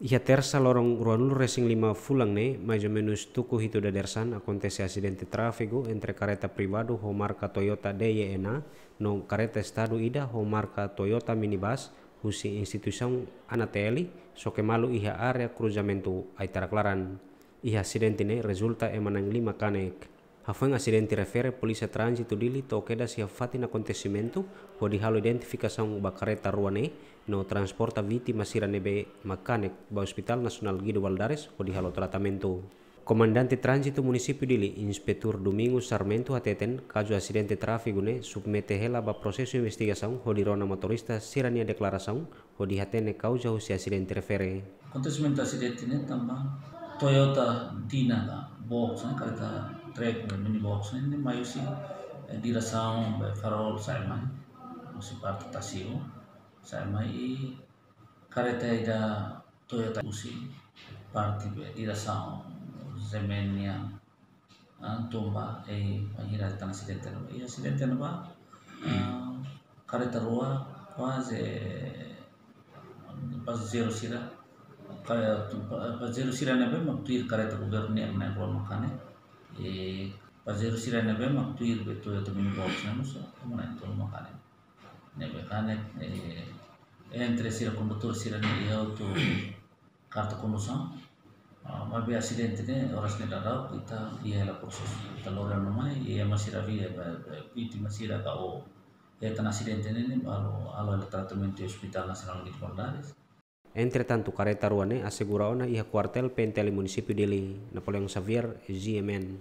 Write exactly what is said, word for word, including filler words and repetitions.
Iha Tersa loron ruanulu resin lima fulan ne'e, mais ou menus tuku hitu dadeer-saan, akontese asidente tráfegu entre kareta privadu ho marka Toyota D Y N A no kareta estadu ida ho marka Toyota minibus husi instituisaun Anatel, soke malu iha área kruzamentu Aitarak Laran. Iha asidente ne'e rezulta ema na'in-lima kanek. Hafoin asidente refere, Polísia Tránzitu Dili to'o kedas iha fatin akontesimentu hodi halo identifikasaun ba kareta rua ne'e no transporta vítima sira ne'ebé mak kanek ba Hospital Nasionál Guido Valadares hodi halo tratamentu. Komandante Tránzitu Munisípiu Dili, Inspetór Domingos Sarmento hateten, kazu asidente tráfegu ne'e submete hela ba prosesu investigasaun hodi rona motorista sira-nia deklarasaun hodi hatene kauza husi asidente refere. Akontesimentu asidente ne'e tanba Toyota Dina ka box ne'e, kareta trek, mini box ne'e, ne'e mai husi, eh, diresaun be Farol sa'e mai, husi parte Tasiu sa'e mai, i kareta ida Toyota husi parte be diresaun Zemenia, ah, tun ba, eh, bainhira tan asidente ne'ebá. I asidente ne'ebá, ah, kareta rua kuaze pasajeiru sira, ka-, pa-, pasajeiru sira ne'ebé mak tuir kareta governu nian na'in-rua mak kanek. I pasajeiru sira ne'ebé mak tuir be Toyota mini box ne'e mós ema na'in-tolu mak kanek. Ne'ebé kanek, eh, entre sira kondutór sira-ne'e iha hotu karta kondusaun. Ah, maibé asidente ne'e oras ne'e daudaun ita iha hela prosesu. Ita lori ona mai, i ema sira via, be, be, vítima sira ka o hetan asidente ne'e, ne'e balu halo hela tratamentu iha Hospital Nasionál Guido Valadares. Entretantu, kareta rua ne'e asegura ona iha kuartél P N T L Munisípiu Dili. Napoleão Xavier, G M N.